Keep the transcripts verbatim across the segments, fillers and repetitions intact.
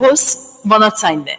Հոս վանացայնն է։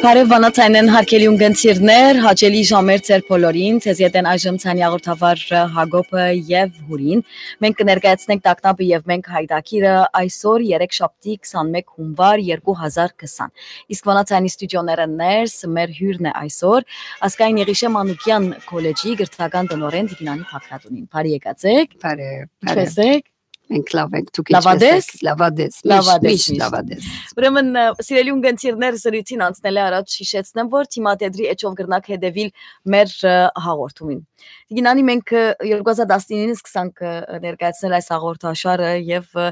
Բարեւ վանացայնեն, հարգելի ունգընտիրներ, հաճելի ժամեր ձեր բոլորին, ձեզ ետեն այժմ ցանի հաղորդավար Հակոբը եւ Հուրին։ Մենք կներկայացնենք Տագնապը եւ մենք հայտագիրը այսօր, երեքշաբթի, քսանմէկ հունուար, երկու հազար քսան։ Իսկ վանացայինի ստուդիոները ներս մեր հյուրն է այսօր, Ազգային Եղիշէ Մանուկեան քոլեջի կրթական տնօրէն Տիկին Անի Բագրատունին։ Բարի եկած եք։ Բարի, ինչպե՞ս եք։ Մենք լավ ենք, դուք ինչպե՞ս եք։ Լավատես։ Լավատես, միշտ, միշտ լավատես։ Ուրեմն, ը, սիրելի ունգընտիրներ, զրույցին անցնելէ առաջ յիշեցնեմ, որ թիմադեդրի էջով կրնաք հետեւիլ մեր, ը, հաղորդումին։ Տիկին Անի, մենք, ը, երկու հազար տասնինինը սկսանք, ը, ներկայացնել այս հաղորդաշարը եւ, ը,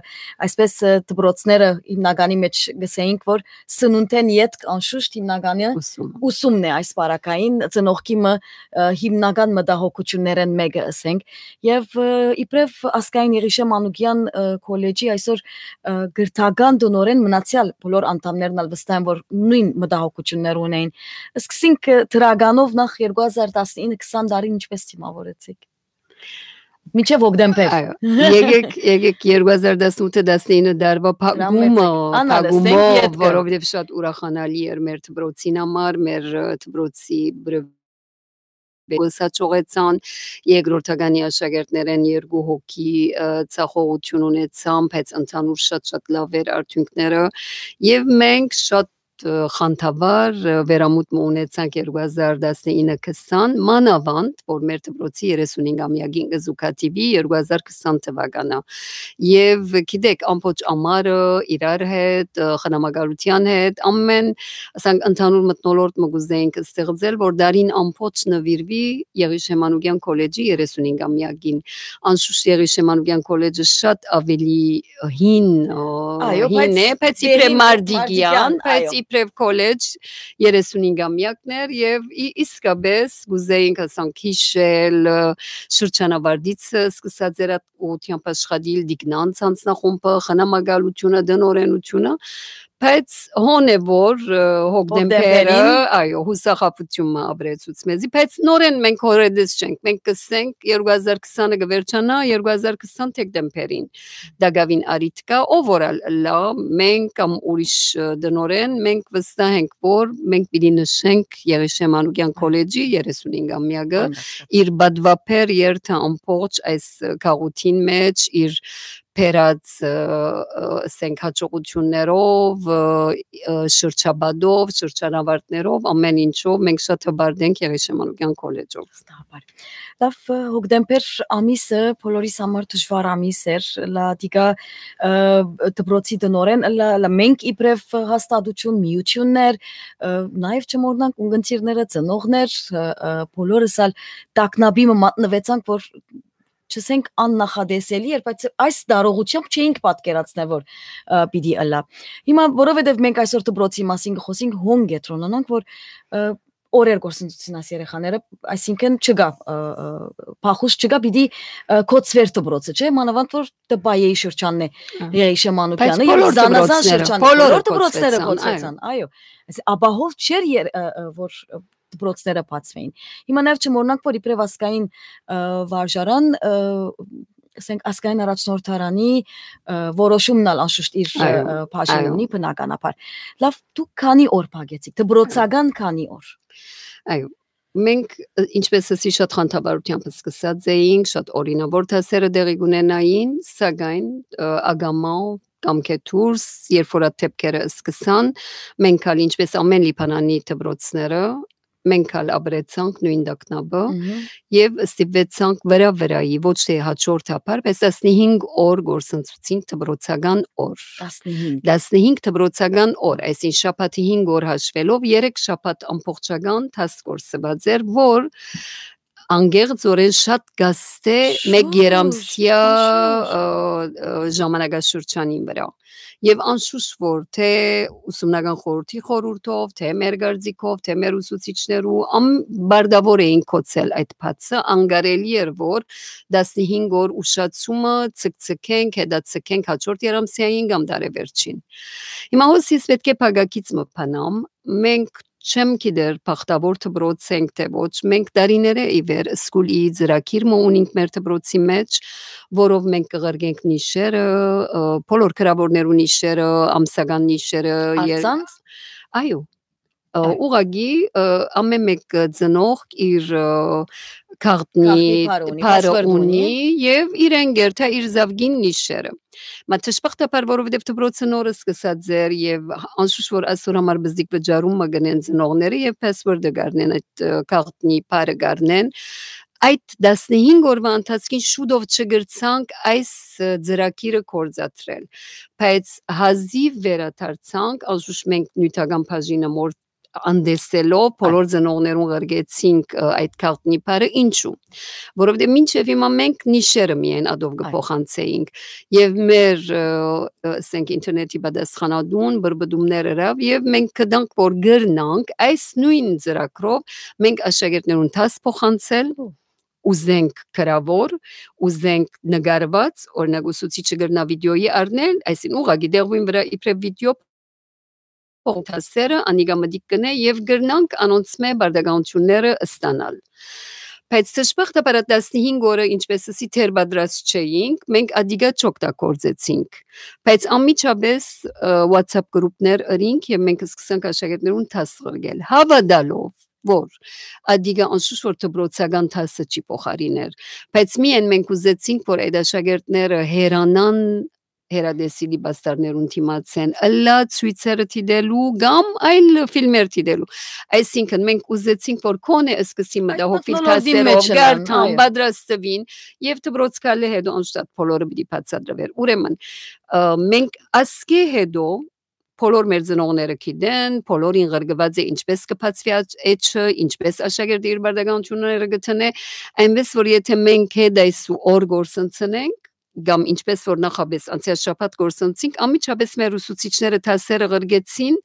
այսպես, ը, դպրոցները հիմնականի մեջ գսեինք, որ սնունդէն ետք անշուշտ հիմնականը ուսումը, ուսումն է այս պարագային, ծնողքի մը, ը, հիմնական մտահոգություններէն մէկը, ըսենք։ Եւ, ը, իբրեւ Ազգային Եղիշէ Մանուկեան, ը, քոլեջի այսօր, ը, կրթական տնօրէն, մնացեալ բոլոր անդամներն ալ վստահ եմ, որ նոյն մտահոգություններ ունեին։ Սկսենք, ը, դրականով, նախ երկու հազար տասնինը, քսան տարին ինչպե՞ս դիմաւորեցիք։ Մինչեւ հոկտեմբեր։ Այո, եկեք, եկեք երկու հազար տասնութը տասնինը դարուայ փակումը, փակումով, որովհետեւ շատ ուրախանալի էր մեր դպրոցին համար, մեր, ը, դպրոցի բրը-, ուսաչողեցան, երկրորդականի աշակերտներէն երկու հոգի, ը, ձախողություն ունեցան, բայց ընդհանուր շատ-շատ լաւ էր արդիւնքները, եւ մենք շատ, ը, խանդավառ, ը, վերամուտ մը ունեցանք երկու հազար տասնինը քսան, մանաւանդ, որ մեր դպրոցի երեսունհինգամեակին կը զուգադիպի երկու հազար քսան թուականը։ Եւ գիտեք, ամբողջ ամառը իրար հետ, ը, խնամակալութեան հետ, ամեն, ասենք, ընդհանուր մթնոլորտ մը կուզեինք ստեղծել, որ դարին ամբողջ նուիրուի Եղիշէ Մանուկեան քոլեջի երեսունհինգամեակին։ Անշուշտ Եղիշէ Մանուկեան քոլեջը շատ ավելի հին, ը, այո, հին բայց է, բայց իբրեւ դերին մարտիկեան, մարտիկեան, բայց այո, իբրեւ քոլեջ երեսունհինգամեակն էր եւ ի-, իսկապես կուզեինք, ասենք, յիշել, ը, շրջանավարտիցը սկսած էր այդ ուղղությամբ աշխատիլ, Տիկնանց անձնախումբը, խնամակալությունը, տնօրէնությունը, բայց հոն է որ, ը, հոկտեմբերը, հոկտեմբերին, այո, յուսախաբութիւն մը ապրեցուց մեզի, բայց նորէն մենք հորետես չենք, մենք կսենք երկու հազար քսանը կվերջանայ, երկու հազար քսան դեկտեմբերին տակաւին առիթ կայ, ով որ ալ ըլլայ, մենք կամ ուրիշ, ը, տնօրէն, մենք վստահ ենք որ մենք պիտի նշենք Եղիշէ Մանուկեան քոլեջի երեսունհինգամեակը, իր պատվաբեր երթը ամբողջ այս, ը, գաղութին մէջ, իր բերած, ը, ը, ասենք, հաջողություններով, ը, ը, շրջապատով, շրջանավարտներով, ամեն ինչով մենք շատ հպարտ ենք Եղիշէ Մանուկեան քոլեջով։ Վստահաբար։ Լավ, ը, հոկտեմբեր ամիսը բոլորիս համար դժուար ամիս էր, լա դիկա, ը, դպրոցի տնօրէն, լա, լա մենք իբրեւ հաստատություն, միություններ, ը, նաեւ չմոռնանք ունգընտիրները, ծնողներ, ը, ը, բոլորս ալ տագնապի մը մատնուեցանք, որ չըսենք աննախատեսելի էր, բայց այս դարողությամբ չէինք պատկերացնել, որ, ը, պիտի ըլլայ։ Հիմա, որովհետեւ մենք այսօր դպրոցի մասին կխօսենք, հոն կեդրոնանանք, որ, ը, օրեր գործընծուցին այս երեխաները, այսինքն չկա, ը, ը, փախուստ չկա, պիտի, ը, կոչուէր դպրոցը, չէ՞, մանաւանդ որ Տպայեի շրջանն է, ը, Եղիշե Մանուկյանը, բայց եւ բոլոր զանազան դպրոցները, շրջաններ, բոլորը բոլոր դպրոցները կոչուեցան, կոչուեցան, այո, այսինքն ապահով չէր եր-, ը, ը, որ, ը, դպրոցները բացվեին։ Հիմա նաեւ չմոռնանք, որ իբրեւ ազգային, ը, վարժարան, ը, ասենք, ազգային առաջնորդարանի, ը, որոշումն ալ անշուշտ իր, այո, ը, բաժինը, այո, ունի բնականաբար։ Լավ, դուք քանի՞ օր փակեցիք, դպրոցական քանի՞ օր։ Այո, Մենք, ը, ինչպես ասի, շատ խանդավառութեամբ սկսած էինք, շատ օրինաւոր դասերը տեղի կունենային, սակայն, ը, ակամայ կամքէ դուրս, երբ որ այդ դեպքերը սկսան, մենք ալ, ինչպես ամէն Լիբանանի դպրոցները, մենք ալ ապրեցանք նոյն տագնապը Մհմ։ եւ ստիպուեցանք վրայ-վրայի, ոչ թէ հաջորդ հապար, բայց տասնհինգ օր գործընծուցինք դպրոցական օր։ Տասնհինգ։ Տասնհինգ դպրոցական օր, այսինքն շաբաթի հինգ օր հաշվելով, երեք շաբաթ ամբողջական դաս գործուած էր, որ անկեղծօրէն շատ գաստ է մեկ Շատ, երամսյա, անշուշտ։ ը, ը, ժամանակաշրջանին վրայ։ Եւ անշուշտ որ թէ ուսումնական խորհրդի խորհուրդով, թէ մեր կարծիքով, թէ մեր ուսուցիչներու, ամ-, բարդաւոր էին գոցել այդ փաստը, անկարելի էր որ տասնհինգ օր ուշացումը ցկցկենք, հետաձգենք հաջորդ երամսյային կամ տարեվերջին։ Հիմա հոս ես պէտք է փակագիծ մը բանամ, մենք չեմ գիտեր բախտաւոր դպրոց ենք թէ ոչ, մենք տարիներէ ի վեր School E ծրագիր մը ունինք մեր դպրոցի մէջ, որով մենք կղրկենք նիշերը, ը, բոլոր գրաւորներու նիշերը, ամսական նիշերը, եր-, Անձանց։ Այո, ը, Այ։ ուղղակի, ը, ամէն մեկ ծնողք իր, ը, գաղտնի Գաղտնի բառ ունի, պարը password ունի ունի։ Եւ իրեն գերթա իր զավգին նիշերը։ Մա դժբախտաբար, որովհետեւ դպրոցը նորը սկսած էր եւ անշուշտ որ այսօր համար բզդիկ վճարում մը գնեն ծնողները եւ password-ը գարնեն այդ, ը, գաղտնի բառը գարնեն, այդ տասնհինգ օրվա ընթացքին շուտով չգրցանք այս, ը, ծրագիրը կործատրել, բայց հազիւ վերադարձանք, անշուշտ մենք նիւթական բաժինը մոր անտեսելով, բոլոր Այ։ ծնողներուն ղրկեցինք, ը, այդ գաղտնի բառը, ինչու, որովհետեւ մինչեւ հիմա մենք նիշերը միայն ադով Այ։ կփոխանցեինք եւ մեր, ը, ը, ասենք, ինտերնետի պատասխանատուն բրբդումներ ըրաւ եւ մենք գտանք, որ գրնանք այս նոյն ծրագրով մենք աշակերտներուն դաս փոխանցել, Ո։ ուզենք գրաւոր, ուզենք նկարված, օրինակ, ուսուցիչը կրնայ վիդեոյի առնել, այսինքն ուղղակի դեղուին վրայ իբրեւ վիդեո փոխանցել դասերը, անիկա մտիկ կ'ընէ եւ կրնանք անոնցմէ պարտականութիւնները ստանալ։ Բայց դժբախտաբար այդ տասնհինգ օրը, ինչպես ասի, դեռ պատրաստ չէինք, մենք ադիկա չօգտագործեցինք, բայց անմիջապէս, ը, WhatsApp գրուպներ ըրինք եւ մենք սկսանք աշակերտներուն դաս ղրկել, հաւատալով, որ ադիկա անշուշտ որ դպրոցական դասը չի փոխարիներ, բայց միայն մենք ուզեցինք, որ այդ աշակերտները հեռանան հեռատեսիլի պաստառներուն դիմացեն, ըլլայ ցոյցերը դիտելու կամ այլ ֆիլմեր դիտելու։ Այսինքն մենք ուզեցինք, որ քոնէ սկսին Այդ մտահոգիլ մթնոլորտին դասերով, մեջ ըլլան, գարթան, այո։ պատրաստվին եւ դպրոց գալը հետո անշուշտ բոլորը պիտի բացատրվեր։ Ուրեմն, ը, մենք ասկէ հետո բոլոր մեր ծնողները գիտեն, բոլորին ղրկուած է ինչպես կը բացուի աջ-, էջը, ինչպես աշակերտը իր պարտականութիւնները կը դնէ, այնպես որ եթե մենք հետ այս ու օր գործընծնենք, կամ ինչպես որ նախապէս անցեալ շաբաթ գործընծինք, անմիջապէս մեր ուսուցիչները դասերը ղրկեցին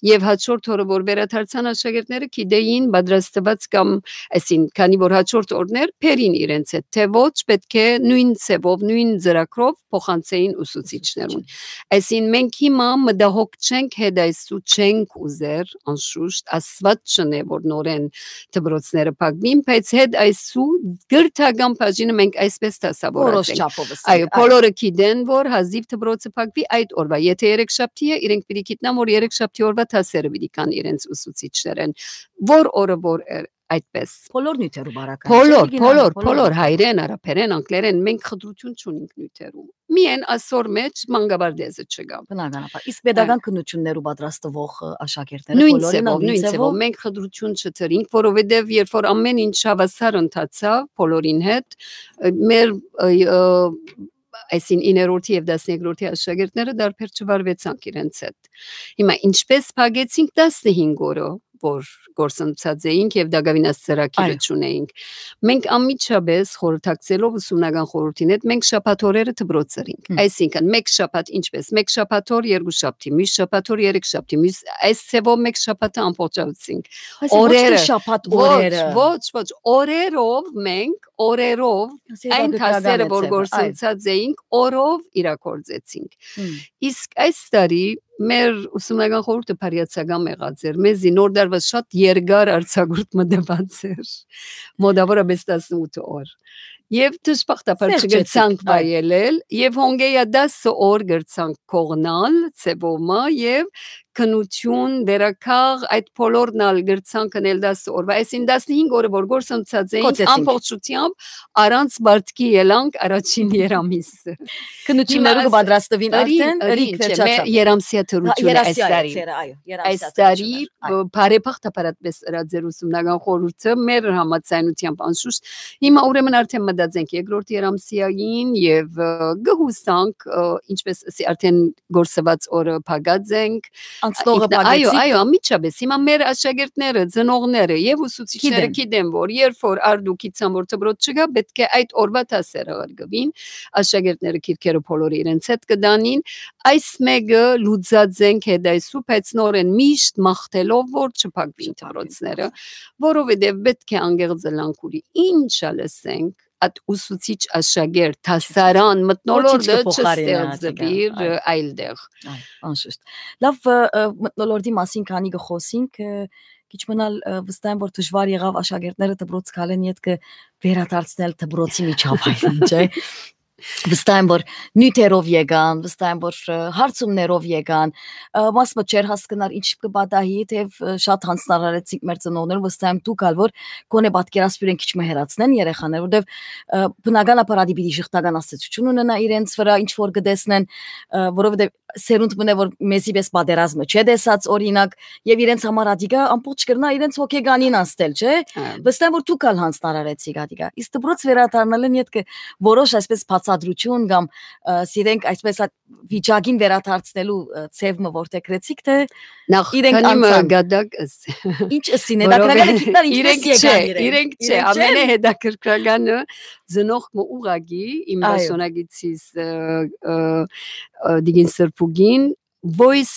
եւ հաջորդ օրը որ վերադարձան աշակերտները գիտեին պատրաստված կամ այսին, քանի որ հաջորդ օրներ բերին իրենց հետ, թէ ոչ, պէտք է նոյն ձեւով, նոյն ծրագրով փոխանցեին ուսուցիչներուն։ Այսին մենք հիմա մտահոգ չենք, հետ այս ու չենք ուզեր, անշուշտ, Աստուած չնէ, որ նորեն դպրոցները փակուին, բայց հետ այս ու գրթական բաժինը մենք այսպես դասավորած Որոշ ենք։ չափով ըսենք, Այո, այո։ բոլորը գիտեն, որ հազիվ դպրոցը փակուի այդ օրվա։ Եթե երեքշաբթի է, իրենք պիտի գիտնան, որ երեքշաբթի օրվա դասերը պիտի կան իրենց ուսուցիչներեն։ Որ օրը որ էր, այդպես։ Բոլոր նիւթերու բարակայ, Բոլոր, չէ՞, Լիգինա, բոլոր, բոլոր։ բոլոր, հայերեն, արաբերեն, անգլերեն, մենք խտրություն չունինք նիւթերու։ Միայն ասոր մեջ մանկավարդեզը չկա։ Բնականաբար։ Իսկ Այո։ պետական քննություններու պատրաստվող, ը, աշակերտները Նույն բոլորին ալ ձևով, նույն նույն ձևով, ձևով։ Մենք խտրություն չտրինք, որովհետև երբ որ ամեն ինչ հավասար ընթացավ բոլորին հետ, ը, մեր, ը, ը, այսին իներորդի և տասներկրորդի աշակերտները դարբեր չվարվեցանք իրենց հետ։ Հիմա ինչպես փակեցինք տասնհինգ օրը, որ գործընծած էինք և դակավին այս ծրագիրը Այո։ չունեինք։ Մենք անմիջապես խորհրդակցելով ուսումնական խորհրդին հետ, մենք շաբաթ օրերը դպրոց ըրինք։ Հմ։ Այսինքն, մեկ շաբաթ ինչպես, մեկ շաբաթ օր, երկու շաբթի, մյուս շաբաթ օր, երեք շաբթի, մյուս, այս ձևով մեկ շաբաթը ամբողջացուցինք։ Այսինքն, ոչ թե Օրերը, շաբաթ ոչ, օրերը։ ոչ, ոչ, օրերով մենք, օրերով Այս այն հետաքրքրական դասերը, է որ ձևը, այո։ գործընծած էինք, օրով իրագործեցինք։ Հմ։ Իսկ այս տարի մեր ուսումնական խորհուրդը բարյացակամ եղած էր։ Մեզի նոր դարվա շատ երկար արձակուրդ մը տված էր, մոտավորապես տասնութ օր։ Եվ դժբախտաբար Սեր չգրցանք չեցիք, այո։ վայելել, և հոնկեյա տասը օր գրցանք կողնալ ձևով մը, և կրկնութիւն, վերակաղ, այդ բոլորն ալ կրցանք ընել տասը օրվա, այսինքն տասնհինգ օրը որ գործընծած էին, կոչեցինք, ամբողջությամբ առանց պարտքի ելանք առաջին երամիսը։ Քննութիւններու կը պատրաստուին արդեն, ըրին, ըրին, ըրին, չէ, մե-, վերջացան։ Երամսեա դրութիւնը այս տարի։ Այս տարի, ը, բարեբախտաբար այդպես ըրած էր ուսումնական խորհուրդը, մեր համաձայնությամբ անշուշտ։ Հիմա ուրեմն արդեն մտածենք երկրորդ երամսիային եւ, ը, կը հուսանք, ը, ինչպես ասի, արդեն գործված օրը փակած ենք։ Անցնողը փակեցիք։ Այո, այո, անմիջապես։ Հիմա մեր աշակերտները, ծնողները եւ ուսուցիչները գիտեն, որ երբ որ արդուկիցան որ դպրոց չկա, պետք է այդ օրվա դասերը ղրկվին, աշակերտները քիրքերը բոլորը իրենց հետ կտանին։ Այս մեկը լուծած ենք հետ այսու, բայց նորեն միշտ մաղթելով որ չփակվին դպրոցները, որովհետեւ պետք է անկեղծ ըլանք ուրի ինչ ալ ասենք, այդ ուսուցիչ աշակերտ, դասարան, մթնոլորտը չփոխարինի չստեղծվի, այո, այլ տեղ։ Այո, անշուշտ։ Լավ, ը, ը, մթնոլորտի մասին քանի կը խոսինք, ը, քիչ մնալ, ը, վստահ եմ որ դժվար եղաւ աշակերտները դպրոց գալեն ետքը վերադարձնել դպրոցի միջավայրին, չէ՞։ Վստահ եմ որ նիւթերով եկան, վստահ եմ որ, ը, հարցումներով եկան, ը, մաս մը չէր հասկնար ինչ կը պատահի, թեև, ը, շատ յանձնարարեցինք մեր ծնողներուն, վստահ եմ դուք ալ որ կոնե պատկերասփիւռ են քիչ մը հեռացնեն երեխաները, որտեւ, ը, բնականաբար ադի պիտի շղթական ազդեցութիւն ունենայ իրենց վրայ, ինչ որ կը տեսնեն, ը, որովհետեւ սերունդ մնե որ մեզի պես պատերազմը չէ տեսած օրինակ, եւ իրենց համար ադիկա ամբողջ կրնայ իրենց հոգեկանին անցնել, չէ՞։ Հա։ Վստահ եմ որ դուք ալ յանձնարարեցիք ադիկա։ Իսկ դպրոց վերադառնալն ետքը որոշ այսպես բացատրություն կամ, ը, սիրենք այսպես այդ վիճակին վերադարձնելու, ը, ձեւ մը որդեգրեցիք, թե նախ իրենք քանի մը անցան գադակ ըս-, ինչ ըսին, հետաքրքրական է գիտնալ ինչպես իրենք եկան չէ, իրենք։ Իրենք չէ, իրենք չեն։ Ամենահետաքրքրականը ծնող մը ուղագի իմ Այո։ Դաշնակիցիս, ը, ը, ը, Դիգին Սրբուկին voice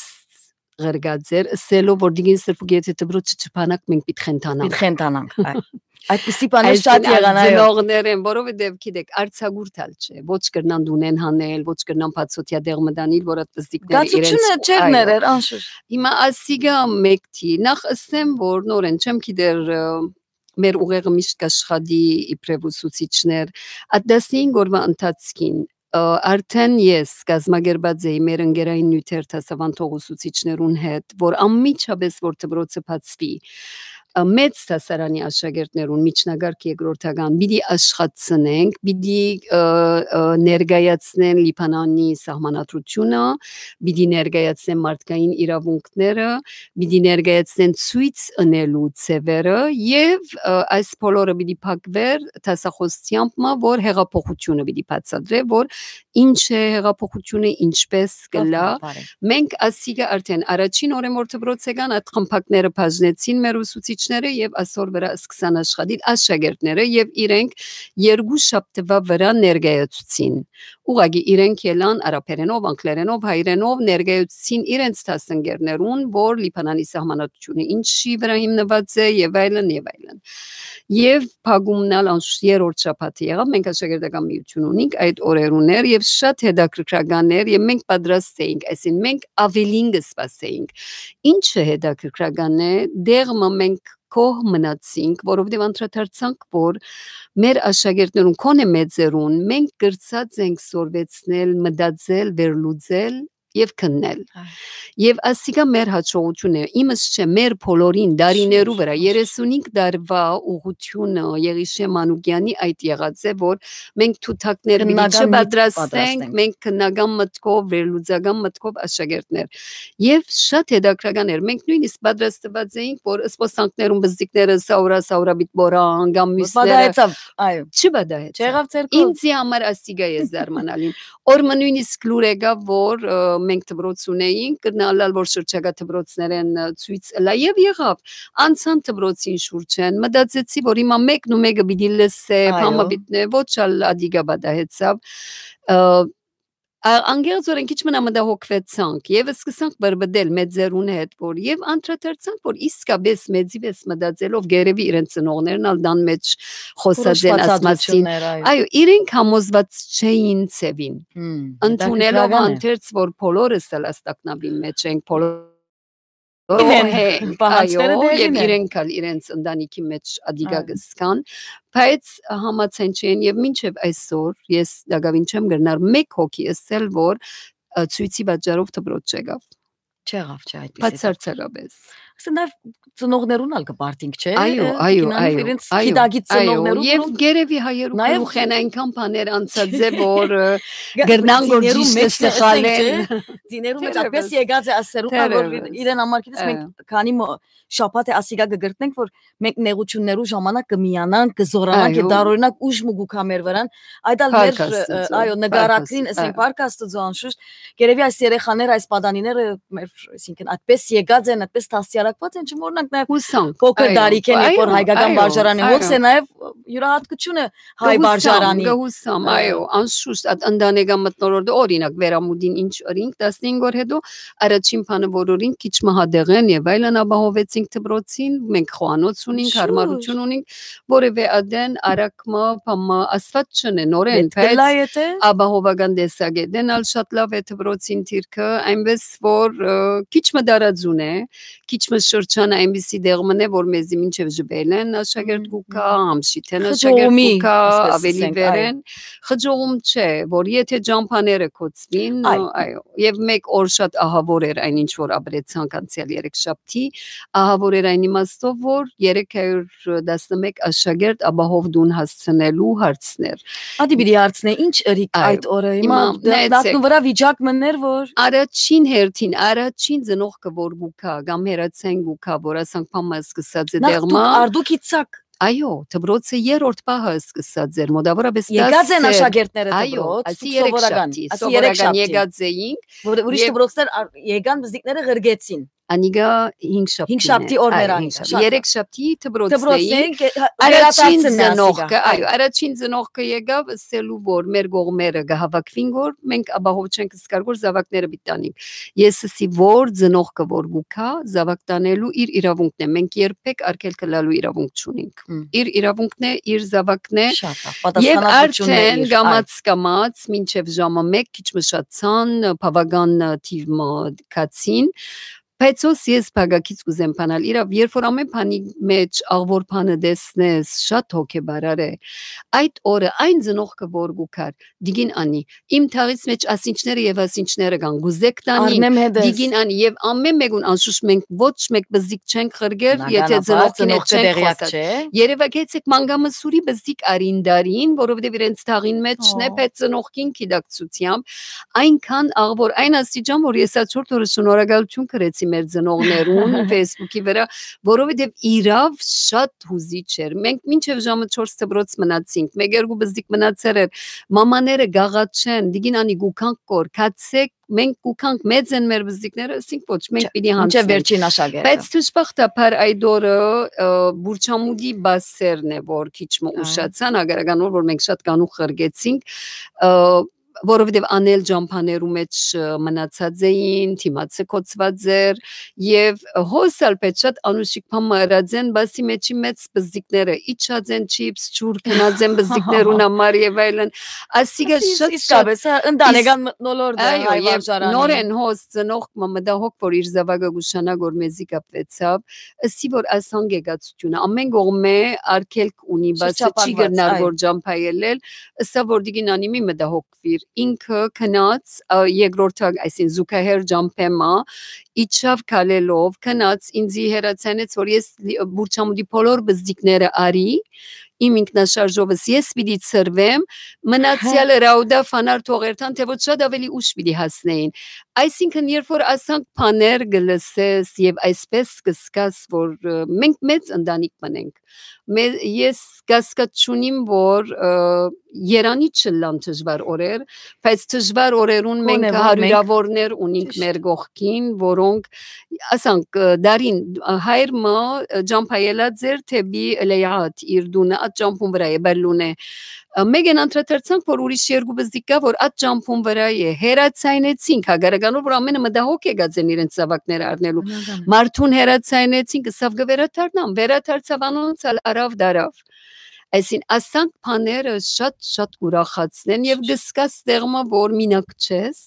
ղրկած էր, ըսելով որ Դիգին Սրբուկ եթե դպրոց չփանակ մենք պիտի խենթանանք։ Պիտի խենթանանք, այ։ Այդպիսի բաներ շատ եղան, այո։ Ծնողներ են, որովհետեւ գիտեք, արձակուրդ ալ չէ, ոչ կրնան դունեն հանել, ոչ կրնան բացօթյա դեղ մտանիլ, որ այդ վզդիկները իրենց, գացությունը չէր այո, ներեր, անշուշտ։ Հիմա ասիգա մեկդի, նախ ըսեմ որ նորեն չեմ գիտեր, ը, մեր ուղեղը միշտ կաշխատի իբրեւ ուսուցիչներ, այդ տասնհինգ օրվա ընթացքին, ը, արդեն ես կազմակերպած էի մեր ընկերային նիւթեր դասաւանդող ուսուցիչներուն հետ, որ անմիջապես որ դպրոցը բացուի, ը, մեծ դասարանի աշակերտներուն միջնակարգ երկրորդական պիտի աշխատցնենք, պիտի, ը, ը, ներկայացնեն Լիբանանի սահմանադրությունը, պիտի ներկայացնեն մարդկային իրավունքները, պիտի ներկայացնեն ցոյց ընելու ձեւերը եւ, ը, այս բոլորը պիտի փակվեր դասախոսությամբ մը, որ հեղափոխությունը պիտի բացատրե, որ ինչ է հեղափոխությունը, ինչպես կլա։ Բարի։ Մենք ասիկա արդեն առաջին օրը որ դպրոց եկան, այդ խմբակները բաժնեցին մեր ուսուցիչները եւ ասոր վրա սկսան աշխատիլ աշակերտները եւ իրենք երկու շաբթվա վրա ներկայացուցին։ Ուղղակի իրենք ելան արաբերենով, անգլերենով, հայերենով ներկայացուցին իրենց դասընկերներուն, որ Լիբանանի սահմանադրությունը ինչի վրա հիմնված է եւ այլն, եւ այլն։ Եւ փակումն ալ անշուշտ երրորդ շաբաթը եղաւ, մենք աշակերտական միություն ունենք այդ օրերուն էր եւ շատ հետաքրքրական էր եւ մենք պատրաստ էինք, այսինքն մենք ավելին կը սպասեինք։ Ինչը հետաքրքրական է, դեղ մը մենք գոհ մնացինք, որովհետեւ անդրադարձանք, որ մեր աշակերտներուն, քոնե մեծերուն, մենք կրցած ենք սորվեցնել, մտածել, վերլուծել եւ քննել։ Այո։ Եվ ասիկա մեր հաջողությունն է, իմս չէ, մեր բոլորին, դարիներու վրա, երեսունհինգ տարվա ուղղությունը Եղիշե Մանուկյանի այդ եղած է, որ մենք թութակներ պիտի քննական միտք չպատրաստենք, պատրաստենք, մենք քննական մտքով, վերլուծական մտքով աշակերտներ։ Եվ շատ հետաքրքրական էր, մենք նույնիսկ պատրաստված էինք, որ սպոսանքներուն բզդիկները սաուրա, սաուրա պիտ մոռան, կամ մյուսները պատահեցավ, այո, չպատահեցավ։ Չեղավ ձեր կողմ։ Ինձի համար ասիկա է զարմանալին։ Օր մը նույնիսկ լուր եկաւ, որ, ը, մենք դպրոց ունեինք, կրնալալ, որ շրջակա դպրոցներեն, ը, ցույց ըլա, եւ եղաւ, անցան դպրոցին շուրջեն, մտածեցի, որ հիմա մեկն ու մեկը պիտի լսե, այո, բամը պիտի նե, ոչ ալ ադիկա պատահեցավ, ը, ա-, անկեղծօրեն քիչ մնա մտահոգվեցանք, եւ սկսանք բրբդել մեծերուն հետ, որ, եւ անդրադարձանք, որ իսկապես մեծի վեց մտածելով գերեւի իրենց ծնողներն ալ տան մեջ խոսած են, ասմասին, այո, իրենք համոզված չէին ձևին, հմ, ընդունելով հանդերձ, որ բոլորս ալ այս տագնապին մեջ ենք, բոլորը, իրեն, հենք, պահանջները այո, դերին են, եւ իրենք ալ իրենց ընտանիքի մեջ ադիկա, այո, կսկան, բայց համաձայն չեն, եւ մինչեւ այսօր ես տակավին չեմ կրնար մեկ հոգի ըսել, որ, ը, ցույցի պատճառով դպրոց չեկավ։ Չեղավ, չէ, այդպիսի բան։ Բացարձակապէս։ Ասեն, նաեւ ծնողներուն ալ կը պարտինք, չէ՞։ Այո, Ը, այո, կինանուր այո, իրենց այո, գիտակից այո, ծնողներուն, եւ որոնք գերեւի հայերու նաեւ գլուխեն այնքան բաներ անցած է, որ, ը, գ-, գրնան որ ծիներու ճիշտը մէջ, սխալեն։ Ասենք, չէ, ծիներու մէջ այդպես Թերևս։ Եկած է ասերուն, որ Թերևս։ իրեն համար գիտես, մենք Այո։ քանի մը շաբաթ է ասիկա կը գրտնենք, որ մենք նեղություններու ժամանակ կը միանանք, կը զորանանք, եւ Այո։ դարօրինակ ուժ մը գուքա մեր վրան, այդ ալ մեր, Փառք Աստուծո, ը, այո, նկարագրին, փառք Աստուծո, ասենք, այո։ Փառք Աստուծո անշուշտ, գերեւի այս երեխաները, այս պատանիները, մեր, այսինքն, այդպես եկած են, այդպես դաստիարակված են, չմոռնանք նաեւ Հուսանք, փոքր այո, տարիքէն, երբ որ այո, հայկական այո, վարժարանը այո։ հոգս է, նաեւ յուրահատկությունը հայ Կը հուսամ, վարժարանի, կը հուսամ, ը, այո, անշուշտ, այդ ընտանեկան մթնոլորտը, օրինակ, վերամուտին ինչ ըրինք, տասնհինգ օր հետո առաջին բանը որ ըրինք, քիչ մը հատեղեն եւ այլն ապահովեցինք դպրոցին, մենք խոհանոց ունինք, Շուշ։ Հարմարություն ունինք, որեւէ ադեն արագ մը, բան մը, Աստուած չնե, նորեն, Պետք է բայց լայ է, թե։ Ապահովական տեսակետեն ալ շատ լաւ է դպրոցին դիրքը, այնպես որ, ը, քիչ մը տարածուն է, քիչ մը շրջանը այնպիսի դեղ մնե, որ մեզի մինչեւ Ժուբելեն աշակերտ Մհմ, կուքա, մհմ։ Համշիթեն աշակերտ Խճողումի, կուքա, ասես ավելի ասենք, այո։ Վերեն, խճողում չէ, որ եթե ճամփաները կոծվին, Այ։ այո, եւ մեկ օր շատ ահավոր էր այն ինչ որ ապրեցանք անցյալ երեք շաբթի, ահավոր էր այն իմաստով, որ երեք հարյուր տասնմեկ աշակերտ ապահով տուն հասցնելու հարցներ։ Ադի պիտի հարցնե, ինչ ըրիք Այո, այդ օրը, հիմա հիմա դ-, նայեցեք։ Դատնու վրա վիճակ մներ, որ Առաջին հերթին, առաջին ծնողքը որ գուքա, կամ հերացային գուքա, որ ասանք փամը սկսած է Նախ դեղմա, դուք արդուք իցաք։ Այո, դպրոցը երրորդ պահը սկսած էր, մոտավորապես Եկած են դասեր, այո, դպրոց, ասի դուք երեք սովորական, շաբթի, ասի երեք սովորական շաբթի։ Եկած էինք, Որ ուրիշ և դպրոցներ ար-, եկան, բզդիկները ղրկեցին։ Անիգա հինգ շաբթին Հինգ շաբթի է, օրներ այ, անիգա, հինգ շաբթի, շաբթի։ Երեք շաբթի դպրոցն Դպրոցն էինք։ էինք, հա, Առաջին վերադարձն է, ասիգա, ծնողքը, այ։ Այո, առաջին ծնողքը եկավ ըսելու, որ մեր կողմերը կհավաքվին, որ մենք ապահով չենք սկար, որ զավակները պիտի տանենք։ Ես ըսի, որ ծնողքը որ գուքա, զավակ տանելու իր իրավունքն է։ Մենք երբեք արգելքը լալու իրավունք չունենք։ Մմ։ Իր իրավունքն է, իր զավակն է։ Շատ լավ, Եվ պատասխանատվություն է արդեն իր, այ։ կամաց-կամաց, մինչև ժամը մեկ քիչ մը շատցան, բավական թիվ մը կացին, բայց հոս ես բակակից կուզեմ բանալ իրաւ, երբ որ ամեն բանի մեջ աղվոր բանը տեսնես, շատ հոգեբարար է։ Այդ օրը այն ծնողքը որ գուքար, դիգին անի, իմ թաղից մեջ ասինչները և ասինչները կան, գուզեք տանին, Առնեմ հետս։ Դիգին անի, և ամեն մեկուն անշուշտ մենք ոչ մեկ բզիկ չենք ղրկեր, եթե Բնականաբար, ծնողքին հետ ծնողքը չենք տեղյակ խոսած։ չէ։ Երևակեցեք Մանգամսուրի բզիկ արին դարին, որովհետև իրենց թաղին մեջ Հո։ Նեփեց ծնողքին գիտակցությամբ, այնքան աղ որ այն աստիճան, որ ես ա չորդ օրը շնորհակալություն գրեցի մեր ծնողներուն Facebook-ի վրա, որովհետև իրավ շատ հուզիչ էր։ Մենք մինչև ժամը չորս դպրոց մնացինք, մեկ երկու բզիկ մնացեր էր, մամաները գաղաչեն, դիգին անի գուքանք կոր, քացեք, մենք գուքանք, մեծ են մեր բզիկները, ասինք ոչ, մենք Չէ, պիտի մինչև հանձնենք։ Վերջին աշակերտը։ Բայց դժբախտաբար այդ օրը, ը, Բուրչամուտի բասերն է, որ քիչ մը Ահա։ Ուշացան, հակառական օր, որ մենք շատ կանուխ ղրկեցինք, ը, որովհետև անել ճամփաներու մեջ, ը, մնացած էին, դիմացը կոծված էր, և հոս ալ պետ շատ անուշիկ բան մը ըրած են, բասի մեջի մեծ բզիկները իջած են չիփս, ջուր գնած են բզիկներուն համար և այլն։ Ասիկա Ասի- շատ, շատ իսկապես, հա, ընտանեկան իս- մթնոլորտը, Այո, հայ և վարժարանի։ Նորեն հոս ծնող մը մտահոգ, որ իր զավակը գուշանա, որ մեզի կապվեցավ, ըսի որ այս հանգեկացությունը ամեն կողմէ արգելք ունի, բասը չի Շրջափակված, գրնար, այո։ Որ ճամփայելել, ըսա որ դիգին անի մի մտահոգվիր, ինքը գնաց, ա, երկրորդակ, այսինքն զուգահեռ ճամփեմա, իջավ քալելով, գնաց, ինձի հեռացանեց, որ ես լի-, Բուրչամուտի բոլոր բզդիկները արի, իմ ինքնաշարժովս ես պիտի ցրվեմ, մնացյալը Ռաուդա Ֆանար թողերթան, թե ոչ շատ ավելի ուշ պիտի հասնեին։ Այսինքն, երբ որ ասանք բաներ կը լսես և այսպես կը զգաս, որ, ը, մենք մեծ ընտանիք մնենք, մե-, ես կասկած չունիմ, որ, ը, երանի չլան դժվար օրեր, բայց դժվար օրերուն մենք Գոնե որ մենք հարյուրավորներ ունենք Ճիշտ։ Մեր կողքին, որոնք, ասանք, ը, դարին, ը, հայր մը, ը, ճամփայելած էր դեպի Լեյաթ, իր տունը, այդ ճամփուն վրա է, Բելլուն է։ Ը, մեկ են անդրադարձանք, որ ուրիշ երկու բզդիկ կա, որ այդ ճամփուն վրա է, հեռացայնեցինք, հակառականով, որ ամենը մտահոգ եկած են իրենց զավակները առնելու։ Բնական է։ Մարդուն հեռացայնեցինք, ըսավ կը վերադառնամ, վերադարձավ անոնց ալ արավ դարավ։ Այսին, ասանք բաները շատ, շատ ուրախացնեն և կսկաս տեղը մը, որ մինակ չես,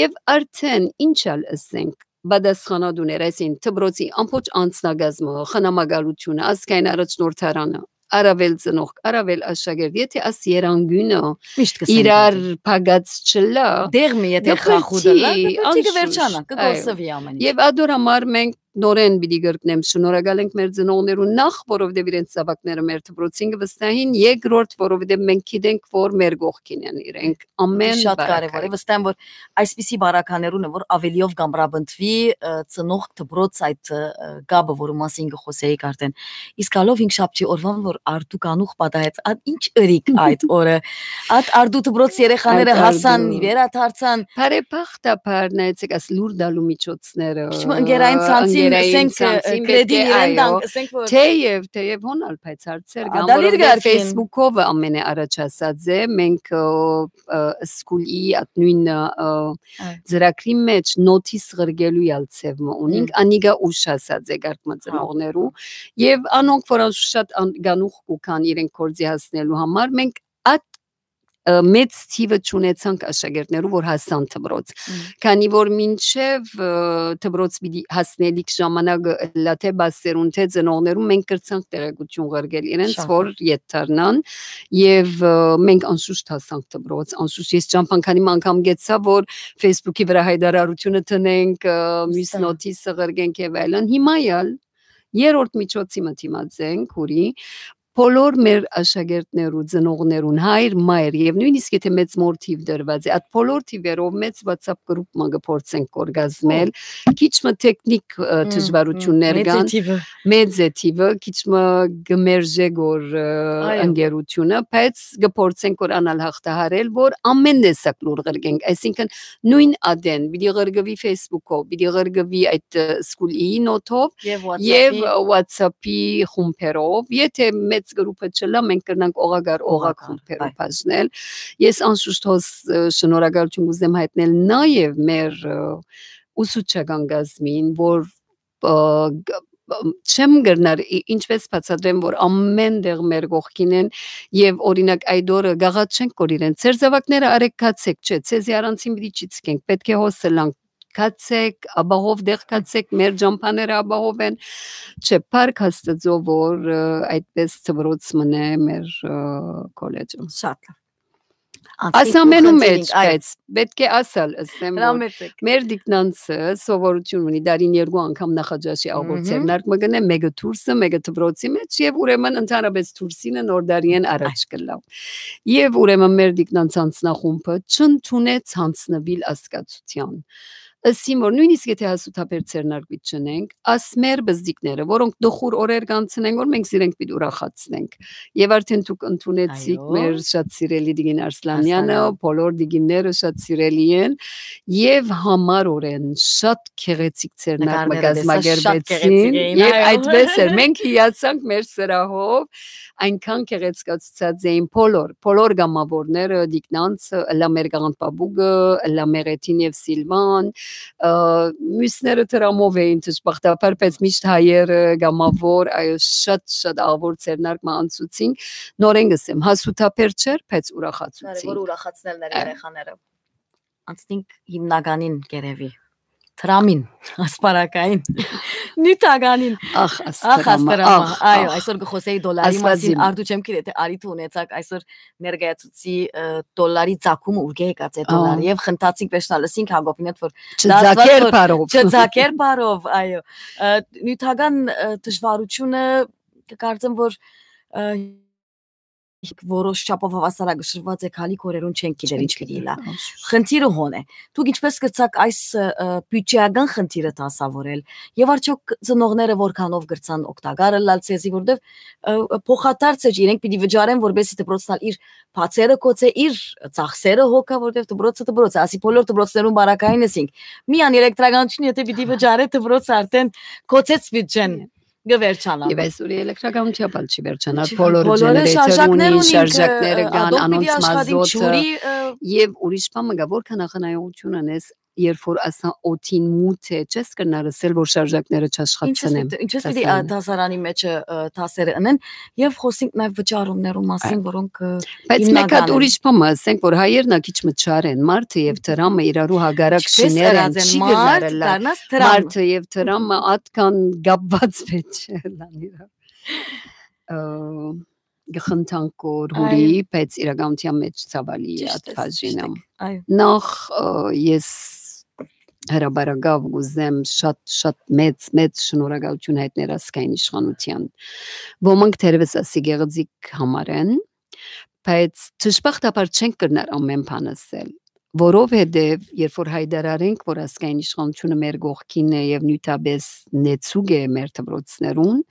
և արդեն ինչ ալ ըսենք, պատասխանատուներ, այսին, դպրոցի ամբողջ անձնակազմը, խնամակալությունը, ազգային առաջնորդարանը, առաւել ծնողք, առաւել աշակերտ, եթե աս երանգիւնը Միշտ կսեն իրար գիտի։ Փակած չլա, Դեղմը եթե կը խախուտ ըլլայ, պրծի, կը պրծի, անշուշտ, կվերջանայ, կը այո։ Կորսվի ամէն ինչ։ Եվ ադոր համար մենք նորէն պիտի կրկնեմ, շնորհակալ ենք մեր ծնողներուն, նախ որովհետեւ իրենց զաւակները մեր դպրոցին կը վստահին, երկրորդ որովհետեւ մենք գիտենք, որ մեր կողքին են իրենք ամէն Շատ կարեւոր է, բարակային։ Վստահ եմ, որ այսպիսի բարականերուն է, որ ավելիով կամրապնդվի, ը, ծնողք դպրոց այդ, ը, կապը, որու մասին կը խոսեիք արդեն։ Իսկ ալով հինգշաբթի օրուան, որ Արդու կանուխ պատահեց, ա, ինչ ըրիք այդ օրը։ Այդ Արդու դպրոց երեխաները Այդ հասան, Արդու։ Վերադարձան։ Բարեբախտաբար, նայեցեք, աս լուր տալու միջոցները, Քիչ մը ընկերային ցանցին, ընկերային ասենք, ը, ցանցին պէտք կրեդին է, իրեն այո, տանք, ասենք, որ թեև, թեև հոն ալ, բայց հարցեր կան, ադալ իր որովհետեւ կարգին։ Facebook-ով ամենը առաջ ասած է, մենք, ը, ը, School-ի այդ նոյն, ը, Այո։ Ծրագրի մեջ նոթիս ղրկելու ալ ձև մը ունինք, Հմ։ Անիկա ուշ ասած է կարգ մը Հա։ Ծնողներու, եւ անոնք, որ անշուշտ ան-, գանուխ կու կան իրենք գործի հասնելու համար, մենք այդ, ը, մեծ թիվը չունեցանք աշակերտներու, որ հասան դպրոց, Հմ։ Քանի որ մինչեւ, ը, դպրոց պիտի հասնելիք ժամանակը ըլլա թե բասերուն, թե ծնողներուն, մենք կրցանք տեղեկություն ղրկել իրենց, Շատ որ լավ։ Ետ դառնան, եւ, ը, մենք անշուշտ հասանք դպրոց, անշուշտ ես ճամփան քանի մը անգամ գեցա, որ Facebook-ի վրա հայտարարությունը դնենք, ը, մյուս Վստահ։ Նոթիսը ղրկենք եւ այլն։ Հիմա ալ երրորդ միջոցի մը դիմած ենք, ուրի, բոլոր մեր աշակերտներու, ծնողներուն, հայր, մայր եւ նոյնիսկ եթե մեծ մոր թիվ դրուած է, այդ բոլոր թիվերով մեծ WhatsApp գրուպ մը կը փորձենք կորգազմել, Ո։ Քիչ մը տեխնիկ, ը, Հմ, դժվարություններ հմ, մեծ է կան, թիվը։ Մեծ է թիվը, քիչ մը կը մերժե գոր, ը, Այո։ Ընկերությունը, բայց կը փորձենք որ անալ հաղթահարել, որ ամեն տեսակ լուր ղրկենք, այսինքն նոյն ադեն պիտի ղրկվի Facebook-ով, պիտի ղրկվի այդ, ը, School-ի նոթով Եւ եւ WhatsApp-ի։ WhatsApp-ի խումբերով, եթե մեծ գրուպը չլա, մենք կրնանք օղակար օղակ Օղակար, խումբերով այ։ Բաժնել։ Ես անշուշտ հոս, ը, շնորհակալություն կուզեմ հայտնել նաեւ մեր, ը, ուսուցչական կազմին, որ, ը, գ-, ը, չեմ կրնար ի-, ինչպես բացատրեմ, որ ամեն տեղ մեր կողքին են եւ օրինակ այդ օրը գաղաչենք որ իրեն ձեր զաւակները արեք գացեք, չէ, ձեզի առանցին պիտի չի ցկենք, պէտք է հոս ըլլանք, գացեք, ապահով տեղ գացեք, մեր ճամփաները ապահով են, չէ, փառք Աստծո, որ, ը, այդպես դպրոց մնե մեր, ը, քոլեջը։ Շատ լավ։ Անցնենք Աս ամենու ու խնդրինք, մեջ, այո։ Բայց պէտք է ասալ, ըսեմ, որ Հրամեցեք։ Մեր դիկնանցը սովորություն ունի, դարին երկու անգամ նախաճաշի աղբոր Մհմ։ Ձեռնարկ մը կնե, մեկը դուրսը, մեկը դպրոցի մեջ, եւ ուրեմն ընդհանրապես դուրսինը նոր դարիեն առաջ Այ։ Կլա։ Եւ ուրեմն մեր դիկնանց անձնախումբը չընդունեց հանձնուիլ ասկացության։ Ըսին որ նոյնիսկ եթե հասութաբեր ձեռնարկ պիտի չնենք, աս մեր բզդիկները, որոնք տխուր օրեր կանցնեն, որ մենք զիրենք պիտի ուրախացնենք։ Եվ արդեն դուք ընդունեցիք Այո։ Մեր շատ սիրելի Դիգին Արսլանյանը, Արսլանյան։ Բոլոր դիգինները շատ սիրելի են, եւ համարորեն շատ գեղեցիկ ձեռնարկ մը Նկարները տեսա, շատ գեղեցիկ կազմակերպեցին, էին, եւ այո։ Այդպես էր, մենք հիացանք մեր սրահով, այնքան գեղեցկացուցած էին բոլոր, բոլոր գամավորները, դիկնանցը, ըլլա մեր գաղանդ պապուկը, ըլլա Մեղեթին եւ Սիլվան, ը, մյուսները դրամով էին դժբախտաբար, բայց միշտ հայերը, գամավոր, այո, շատ, շատ աղբոր ձեռնարկ մը անցուցին, նորեն կսեմ, հասութաբեր չէր, բայց ուրախացուցին։ Կարևոր ուրախացնելն էր Այո։ Երեխաները։ Անցնենք հիմնականին կերևի, դրամին, ասպարակային, նյութականին։ Ախ, Ախ, Աստղրամը, Աստղրամը, ախ, այո, ախ։ Այսօր կխոսեի դոլարի Աստված մասին, իմ։ Արդու չեմ գիտի, թե արիթ ունեցաք այսօր ներկայացուցի, ը, դոլարի ծագումը ուրկե եկած է դոլարը, Ահա։ Եւ խնդացինք վերջնալ, ըսինք Հակոբին հետ, որ Չձակեր դասված որ բարով։ Չձակեր բարով, այո։ Ը, նյութական, ը, դժվարությունը կկարծեմ, որ, ը, որոշ չափով հավասարակշռված է, քալի կորերուն չենք գիտեր ինչ Չենք պիտի գիտեր, լա։ Անշուշտ։ Խնդիրը հոն է։ Դուք ինչպես կրցաք այս, ը, ը, բյուջեական խնդիրը դասավորել, եւ արդյոք ծնողները որքանով կրցան օգտակար ըլլալ ցեզի, որտեվ, ը, ը, փոխադարձ է, իրենք պիտի վճարեն, որպեսզի դպրոցն ալ իր բացերը կոչե, իր ծախսերը հոգա, որտեվ դպրոցը դպրոց է, ասի բոլոր դպրոցներուն բարակային էսինք։ Միան էլեկտրականություն, եթե պիտի վճարե, դպրոցը արդեն կոչեց բյուջեն, Иә։ Կվերջանա։ Եվ այսօր էլեկտրականությամբ ալ չի վերջանար, Չի, բոլորը բոլորը generator շարժակներ ունին, ունինք, շարժակները ը, կան, ադոնք պիտի անոնց աշխատին, մազոտը, ջուրի, ը, եւ ուրիշ բան մը կա, որքան ախնայողություն անես, երբ որ ասա օդին մութ է, չես կրնար ասել, որ շարժակները Ինչպես չաշխատցնեմ, պիտի, ինչպես պիտի, ա, դասարանի։ Դասարանի մեջը, ը, դասերը ընեն, եւ խոսենք նաեւ վճարումներու մասին, Այո։ Որոնք, ը, Բայց մեկ հատ հիմնական են։ Ուրիշ բան մը ասենք, որ հայերն ա քիչ մը չար են, մարդը եւ դրամը իրարու հակառակ Ինչպես շիներ են, ըրած են, չի մարդ գնար ըլլա, դառնաս դրամ։ Մարդը եւ դրամը ատկան կապված պետք չէ ըլլան իրար։ Ը, կը խնդանք որ հուրի, բայց իրականության մէջ ցաւալի է այդ բաժինը։ Այո։ Նախ, ը, ես հրապարակաւ կ'ուզեմ շատ, շատ մեծ, մեծ շնորհակալություն հայտնել ազգային իշխանության։ Ոմանք թերեւս ասի գեղեցիկ համարեն, բայց դժբախտաբար չենք կրնար ամեն բան ասել, որովհետեւ երբ որ հայտարարենք, որ ազգային իշխանությունը մեր կողքին է եւ նիւթապէս նեցուկ է մեր դպրոցներուն,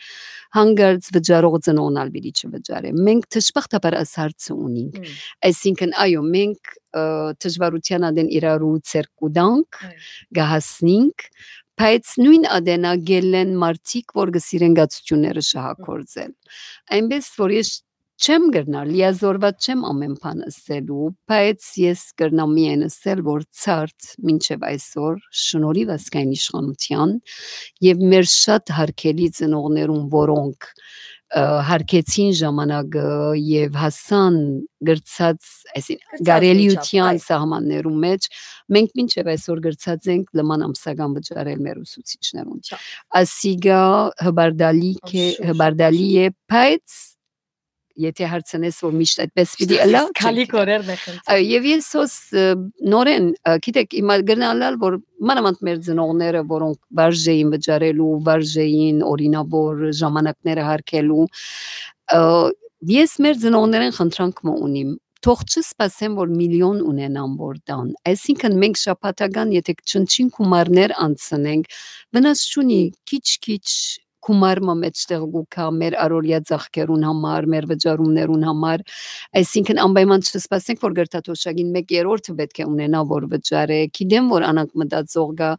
հանկարծ վճարող ծնողն ալ պիտի չվճարէ։ Մենք դժբախտաբար այս հարցը ունինք։ Մմ։ Այսինքն, այո, մենք, ը, դժվարության ատեն իրարու ձեռք կու տանք, Այո։ կը հասնինք, բայց նոյն ատենա գելլեն մարդիկ, որ կը սիրեն գացությունները շահագործել։ Այնպես որ ես չեմ կրնար, լիազորված չեմ ամեն բան ըսելու, բայց ես կրնամ միայն ըսել, որ ցարդ մինչեւ այսօր շնորհիվ ազգային իշխանության եւ մեր շատ հարգելի ծնողներուն, որոնք, ը, հարգեցին ժամանակը եւ հասան գրծած, այսինքն, Գրծած կարելիության միջով, այո։ սահմաններու մեջ, մենք մինչեւ այսօր գրծած ենք լման ամսական վճարել մեր ուսուցիչներուն։ Չա։ Ասիգա հբարդալի կէ-, Անշուշտ, հբարդալի անշուշտ։ է, բայց եթե հարցնես, որ միշտ այդպես պիտի ըլլայ, չեմ Քալի գիտեր։ Կորերն է խնդիրը։ Այո, եւ ես հոս, ը, նորեն, ը, գիտեք, հիմա կրնալալ, որ մանավանդ մեր ծնողները, որոնք վարժ էին վճարելու, վարժ էին օրինավոր ժամանակները հարգելու, ը, ես մեր ծնողներեն խնդրանք մը ունիմ, թող չսպասեմ, որ միլիոն ունենան, որ տան։ Այսինքն, մենք շաբաթական, եթե չնչին գումարներ անցնենք, վնաս չունի, քիչ-քիչ գումար մը մեջտեղ կու գայ մեր առօրեայ ծախքերուն համար, մեր վճարումներուն համար, այսինքն, անպայման չսպասենք, որ գրթաթոշակին մէկ երրորդը պէտք է ունենայ, որ վճարէ։ Գիտեմ, որ անանկ մտածող կայ,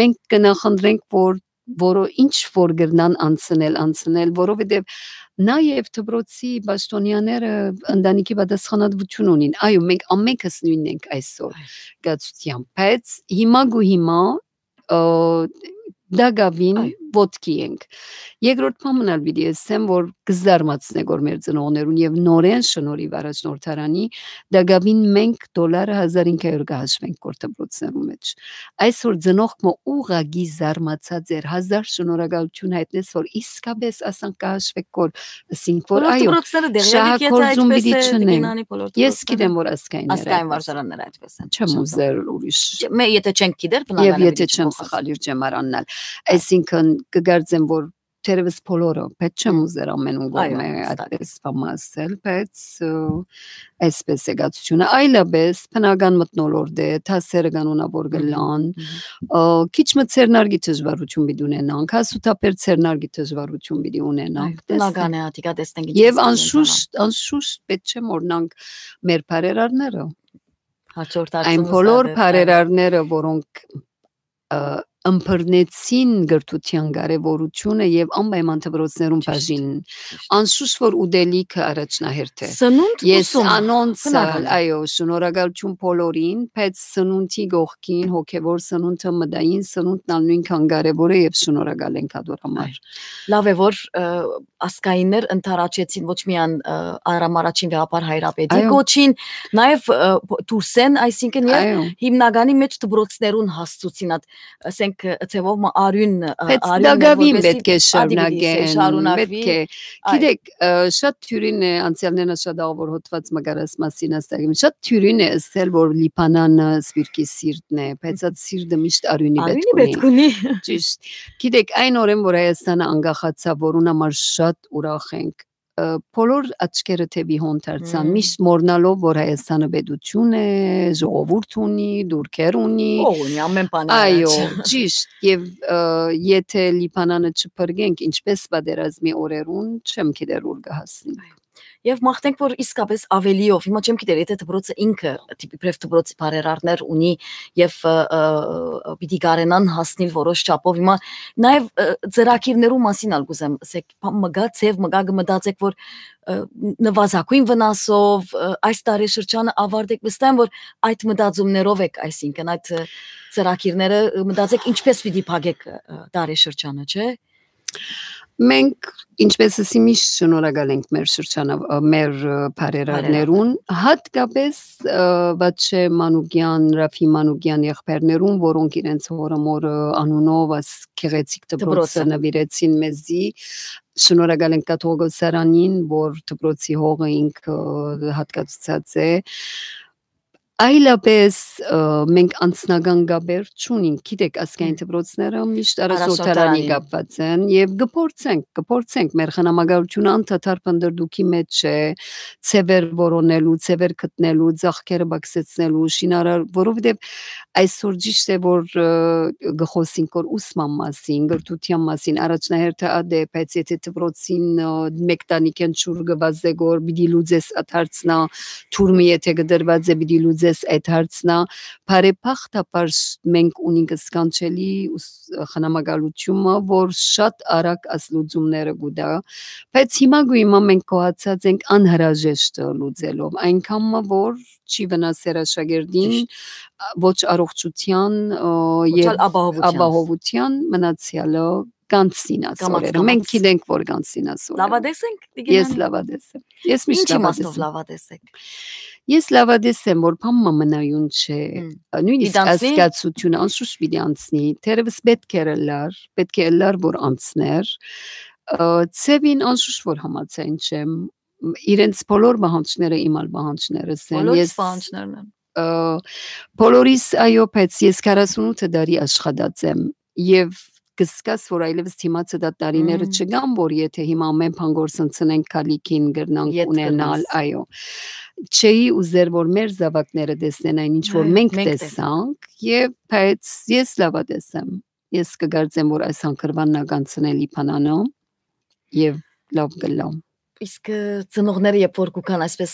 մենք կը նախընտրենք, որ որո-, ինչ որ կրնան անցնել, անցնել, որովհետեւ նաեւ դպրոցի պաշտոնյաները ընտանիքի պատասխանատվություն ունին։ Այո, մենք ամենքս նոյնն ենք այսօր Այո։ կացությամբ, բայց հիմա գու հիմա, ը, դակավին Այո։ ոտքի ենք։ Երկրորդ բան մնալ պիտի ասեմ, որ կը զարմացնենք որ մեր ծնողներուն եւ նորեն շնորհիվ առաջնորդարանի դակավին մենք դոլարը հազար ինը հարյուր կը հաշվենք որ դպրոցներու մեջ։ Այսօր ծնողք մը ուղղակի զարմացած էր, հազար շնորհակալություն հայտնեց, որ իսկապես ասանք կը հաշվեք որ, ասինք որ Բոլոր այո, դպրոցները դեղի ալիք, եթե շահագործում այդպես պիտի է, չնեն։ Տիկին Անի, բոլոր Ես դպրոցները։ գիտեմ որ ազգայինները Ազգային այդպես են։ Վարժարանները այդպես են, Չեմ չեմ ուզեր ուրիշ։ Չէ, մե-, եթե չենք գիտեր, Եվ բնականը եթե պիտի չեմ չփոխվի։ Սխալիր, չեմ առանալ։ Այսինքն, կգարձեմ որ թերևս բոլորը, բայց չեմ Հմ։ ուզեր ամենուն Այո, կողմէ հստակ։ այդպես բան ասել, բայց, ը, այսպես է գացությունը։ Այլապես բնական մթնոլորտ է, դասերը կանոնավոր Մհմ, կլան, մհմ։ ը, քիչ մը ձեռնարկի դժվարություն պիտի ունենանք, հասութաբեր ձեռնարկի դժվարություն պիտի ունենանք, Այո, բնական տեսնենք։ է, ատիկա տեսնենք ինչ Եվ անշուշտ, անշուշտ պետք չէ մոռնանք մեր բարերարները։ Հաջորդ Այն հարցումս բոլոր ատեն, այո։ բարերարները, որոնք, ը, ըմբռնեցին գրթության կարևորությունը եւ անպայման դպրոցներուն Ճիշտ, բաժինն, ճիշտ։ անշուշտ որ ուտելիքը առաջնահերթ է։ Սնունդ Ես ուսում, անոնց, բնական է։ այո, շնորհակալություն բոլորին, բայց սնունդի կողքին հոգեվոր սնունդը, մտային սնունդն ալ նույնքան կարևոր է եւ շնորհակալ ենք ատոր համար։ Այո։ Լավ է, որ, ը, ազգայիններ ընդառաջեցին ոչ միայն, ը, Արամ առաջին վեհափառ հայրապետի Այո։ կոչին, նաեւ, ը, դուրսեն, այսինքն, եւ Այո։ հիմնականի մեջ դպրոցներուն հասցուցին, այդ, ասենք, ը, ձևով մը արիւն, ը, Բայց արիւն է, դակավին որպեսզի պետք է ադի պիտի շարունակեն, շարունակվի։ պետք է։ Այո։ Գիտեք, ը, շատ թիւրին է, անցյալներն շատ աղ որ հոդված մը կարաս մասին ասակին, շատ թիւրին է ըսել, որ Լիբանանը սպիրկի սիրտն է, բայց այդ սիրտը միշտ արիւնի պետք Արիւնի ունի։ պետք ունի։ Ճիշտ։ Գիտեք, այն օրեն, որ Հայաստանը անկախացաւ, որուն համար շատ ուրախ ենք, ը, բոլոր աչքերը թևի հոն դարձան, Մմ։ միշտ մոռնալով, որ Հայաստանը պետություն է, ժողովուրդ ունի, դուրքեր ունի։ Ող ունի, ամեն բանի Այո, առաջ։ ճիշտ։ Եվ, ը, եթե Լիբանանը չփրկենք, ինչպես պատերազմի օրերուն, չեմ գիտեր ուր կհասնի։ Այո։ Եվ մաղթենք, որ իսկապես ավելիով, հիմա չեմ գիտեր, եթե դպրոցը ինքը, դիպ-, իբրև դպրոցի բարերարներ ունի եւ, ը, ը, պիտի կարենան հասնիլ որոշ չափով։ Հիմա նաեւ, ը, ծրագիրներու մասին ալ կուզեմ, ասեք, բան մը գա, ձև մը գա, կը մտածեք, որ, ը, նվազագույն վնասով, ը, այս տարեշրջանը ավարտեք, վստահ եմ, որ այդ մտածումներով եք, այսինքն այդ, ը, ծրագիրները, ը, մտածեք, ինչպես պիտի փակեք, ը, տարեշրջանը, չէ՞։ Մենք, ինչպես ըսի, միշտ շնորհակալ ենք մեր շրջանաւ-, ը, մեր, ը, բարերարներուն, հատկապես, ը, Վաչե Մանուկեան, Ռաֆի Մանուկեան եղբայրներուն, որոնք իրենց հօրը մօրը անունով աս գեղեցիկ դպրոցը Դպրոցը։ նուիրեցին մեզի։ Շնորհակալ ենք կաթողիկոսարանին, որ դպրոցի հողը ինքը, ը, հատկացուցած է։ Այլապես, ը, մենք անձնական կապեր չունենք։ Գիտեք, ազգային Հմ։ դպրոցները միշտ Արաշ Արաշ Օթարանի Օթարանի։ կապված են եւ կփորձենք, կփորձենք։ Մեր խնամակալությունը անդադար փնտռդուքի մեջ է, ձեւեր որոնելու, ձեւեր գտնելու, ծախքերը բացեցնելու, շինարար, որովհետեւ այսօր ճիշտ է, որ, ը, կը խոսենք որ ուսման մասին, կրթության մասին, առաջնահերթը ա դե, բայց եթե դպրոցին, ը, մէկ տանիքէն ջուր կը վազեք, որ պիտի լուծես այդ հարցնա, թուրմը եթե կը դրված է, պիտի լուծես այդ հարցնա, բարեբախտաբար ս-, մենք ունենք սքանչելի ուս-, խնամակալությունը, որ շատ արագ աս լուծումները կու տայ, բայց հիմա գոյ հիմա մենք գոհացած ենք անհրաժեշտը լուծելով, այնքան մը, որ չի վնասեր աշակերտին, Ճիշտ։ ա, ոչ առողջության, ը, Ոչ եւ ալ ապահովութեան։ ապահովության, մնացեալը կանցնին աս Կամաց, օրերը։ Մենք կամաց։ գիտենք, որ կանցնին աս օրերը։ Լաւադես ենք, տիկին Ես Անի։ լաւադես եմ։ Ես միշտ Ինչ իմաստով լաւադես եմ։ լաւադես եք։ Ես լաւադես եմ, որ բան մը մնայուն չէ։ Հմ։ Ա, նույնիսկ Պիտի անցնի։ ազգացությունը անշուշտ պիտի անցնի, թերևս պետք էր ըլլար, պետք է ըլլար, որ անցներ։ Ա, ձևին անշուշտ որ համաձայն չեմ։ Մ-, իրենց բոլոր պահանջները իմ ալ պահանջներս են։ Բոլորիս Ես, պահանջներն են։ ա, բոլորիս, այո, բայց ես քառասունութ տարի աշխատած եմ եւ կսկաս, որ այլևս դիմացը դա տարիները Մմ։ չկան, որ եթե հիմա ամեն բան գործընծնենք, քալիքին կրնանք Ետ ունենալ, կրնաս։ այո։ Չէի ուզեր, որ մեր զավակները տեսնեն այն, ինչ որ Այո, մենք մենք տեսանք։ տեսանք, եւ բայց ես լաւադես եմ։ Ես կգարձեմ, որ այս հանգրվանն ա կանցնել Լիբանանը եւ լաւ կլամ։ Իսկ, ը, ծնողները, երբ որ կուքան, այսպես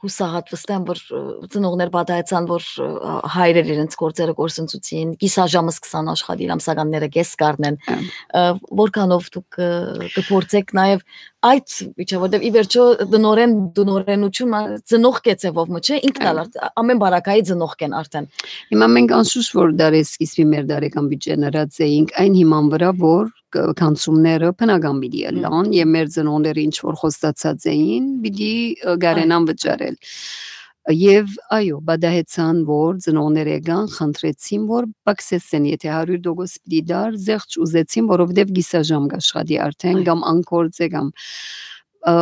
հուսահատ վստահ եմ, որ, ը, ծնողներ պատահեցան, որ, ը, հայրեր իրենց գործերը գործընծուցին, կիսաժամը սկսան աշխատիլ, ամսականները կես կառնեն, Ա։ ը, որքանով դուք, ը, կփորձեք նաեւ այդ միջը, որտեւ ի վերջո տնօրեն, տնօրենությունը ծնող կեցեւով մը չէ, ինքն ալ Ա։ արդ-, ամեն բարակայի ծնող կեն արդեն։ Հիմա մենք անշուշտ որ դարեսկիզբի մեր դարեկան բյուջեն ըրած էինք այն հիման վրա, որ կ-, կանցումները բնական պիտի Հմ։ ըլլան եւ մեր ծնողները ինչ որ խոստացած էին, պիտի, ը, կարենան Այո։ վճարել։ Եւ այո, բադահեցան, որ ծնողները եկան, խնդրեցին, որ պակսեսեն, եթե հարիւր տոկոս պիտի դար, զեղչ ուզեցին, որովհետեւ կիսաժամ կաշխատի արդեն, Այո։ կամ անկորձ է, կամ, ը,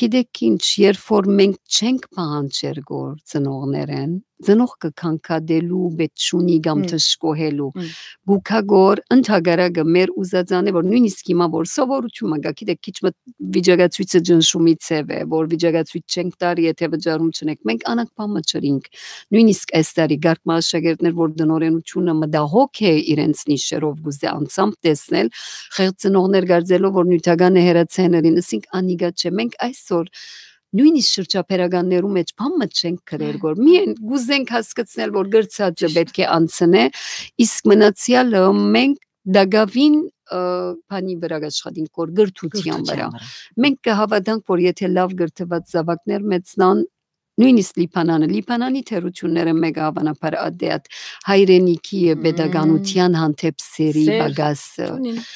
գիտեք ինչ, երբ որ մենք չենք պահանջեր գոր ծնողներեն, ծնողքը քանքատելու պէտ չունի կամ Հմ։ դժկոհելու, Հմ։ գուքա գոր ընդհակառակը մեր ուզածան է, որ նույնիսկ հիմա որ սովորությունը կա, գիտեք, քիչ մը վիճակացույցը ճնշումի ձև է, որ վիճակացույց չենք տար, եթե վճարում չունենք, մենք անակ բան մը չրինք, նույնիսկ այս տարի կարգ մը աշակերտներ, որ տնօրենությունը մտահոգ է իրենց նիշերով, գուզե անցամբ տեսնել, խեղծ ծնողներ գարձելով, որ նիւթականը հեռացայ ներին, ըսինք անիգա չէ, մենք այսօր նույնիսկ շրջափերականներու մեջ բան մը չենք գրեր, Այո, որ այո։ միայն գուզենք հասկցնել, որ գրծածը Ճիշտ։ պետք է անցնե, իսկ մնացեալը մենք դակավին, ը, բանի վրա կաշխատենք, որ գրթության Գրթության վրա։ վրա։ Մենք կհավատանք, որ եթե լավ գրթված զավակներ մեծնան, նույնիսկ Լիբանանը, Լիբանանի թերությունները մեկը հավանաբար ադեատ հայրենիքի եւ Մմ։ պետականության հանդեպ սերի Սեր պակասը։ չունին։